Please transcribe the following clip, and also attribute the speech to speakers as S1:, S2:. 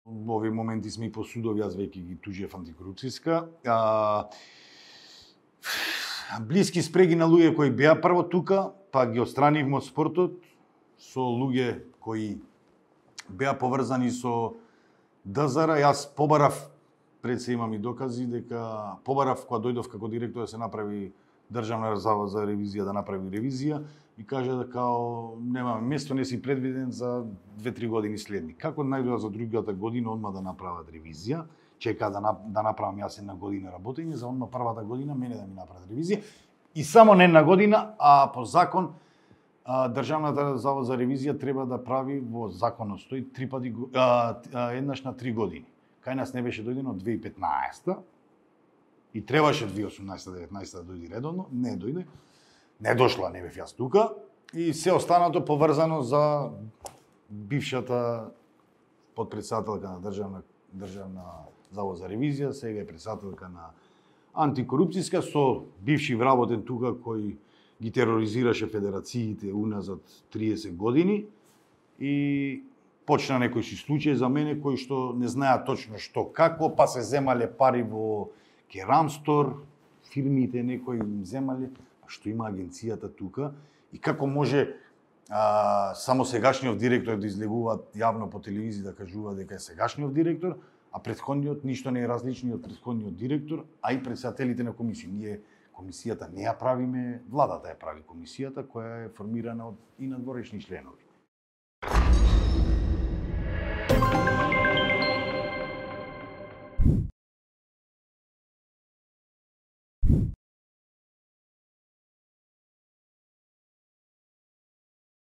S1: Во овие моменти сме и по судови, јас веќе ги тужев антикорупцијска. Блиски спреги на луѓе кои беа прво тука, па ги отстранивме од спортот, со луѓе кои беа поврзани со ДЗР. Јас побарав, пред се имам и докази, дека побарав кога дојдов како директор да се направи Државна завод за ревизија, да направи ревизија, и кажа дека немаме место, не си предвиден за 2-3 години следни. Како најдоа за другата година одма да направат ревизија, чека да направам јас една година работење, за одма првата година мене да ми направат ревизија, и само не една година, а по закон Државната завод за ревизија треба да прави, во законот стои, еднаш на 3 години. Кај нас не беше дојдено од 2015 и требаше 2018-19 да дојде редовно, не дојде. Не дошла, не бев јас тука, и се останато поврзано за бившата подпредседателка на Државна завод за ревизија, сега е председателка на антикорупцијска, со бивши вработен тука кој ги тероризираше федерациите уназад 30 години, и почна некои си случаи за мене кои што не знаат точно што како, па се земале пари во Керамстор, фирмите некои им земале, што има агенцијата тука, и како може само сегашниот директор да излегува јавно по телевизија да кажува дека е сегашниот директор, а претходниот ништо не е различно од претходниот директор, а и председателите на комисија. Ние комисијата не ја правиме, владата ја прави комисијата, која е формирана од и надворешни членови.